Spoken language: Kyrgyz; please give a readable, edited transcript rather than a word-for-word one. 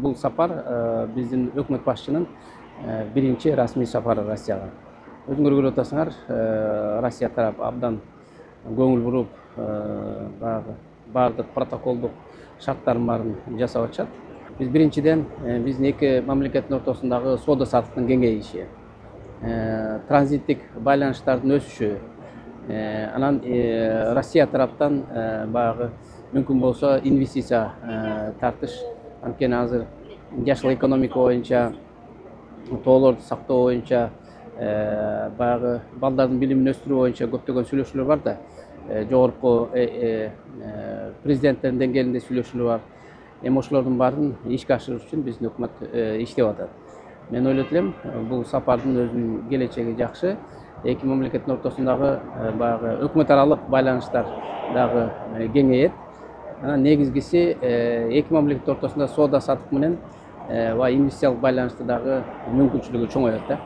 бул сапар биздин өкмөт башчынын биринчи расмий сапары Россияга. Өзүңөр көрүп атасыңар, Россия тарап абдан көңүл буруп, баардык протоколдук шарттардын баарын жасап атышат. Биз биринчиден биздин эки мамлекеттин ортосундагы соода саттыктын кеңейиши, транзиттик байланыштардын өсүшү, анан Россия тараптан баягы мүмкүн болсо инвестиция тартыш, анткени азыр жашыл экономика боюнча, тоолорду сактоо боюнча, баягы балдардын билимин өстүрүү боюнча көптөгөн сүйлөшүүлөр бар да, жогорку президенттердин деңгээлинде сүйлөшүүлөр бар. Эми ошолордун баарын ишке ашырыш үчүн биздин өкмөт иштеп атат. Мен ойлойт элем, бул сапардын өзүнүн келечеги жакшы. Эки мамлекеттин ортосундагы баягы өкмөт аралык байланыштар дагы кеңейет. Анан негизгиси эки мамлекет ортосунда соода саттык менен инвестициялык байланышты дагы мүмкүнчүлүгү чоңоет да.